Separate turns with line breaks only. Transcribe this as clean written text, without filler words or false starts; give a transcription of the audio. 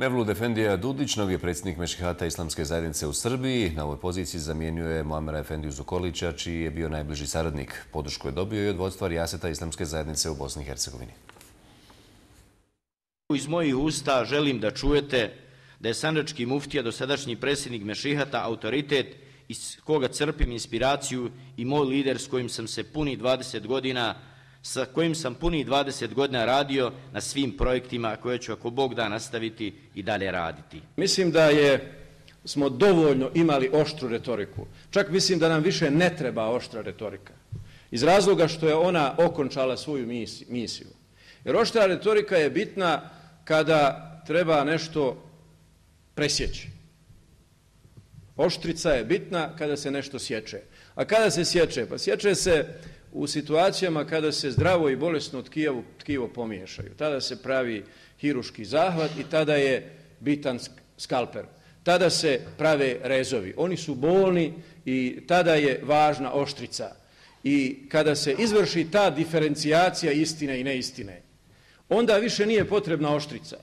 Mevlud Efendija Dudić, novi je predsjednik Mešihata Islamske zajednice u Srbiji. Na ovoj poziciji zamjenjuje Muamera Efendiju Zukorlića, čiji je bio najbliži saradnik. Podršku je dobio i od vodstva Rijaseta Islamske zajednice u Bosni i Hercegovini.
Iz mojih usta želim da čujete da je sandžački muftija, dosadašnji predsjednik Mešihata, autoritet iz koga crpim inspiraciju i moj lider s kojim sam punih 20 godina radio na svim projektima koje ću, ako Bog da, nastaviti i dalje raditi.
Mislim da smo dovoljno imali oštru retoriku. Čak mislim da nam više ne treba oštra retorika. Iz razloga što je ona okončala svoju misiju. Jer oštra retorika je bitna kada treba nešto presjeći. Oštrica je bitna kada se nešto sječe. A kada se sječe? Pa sječe se u situacijama kada se zdravo i bolesno tkivo pomiješaju. Tada se pravi hiruški zahvat i tada je bitan skalpel. Tada se prave rezovi. Oni su bolni i tada je važna oštrica. I kada se izvrši ta diferencijacija istine i neistine, onda više nije potrebna oštrica.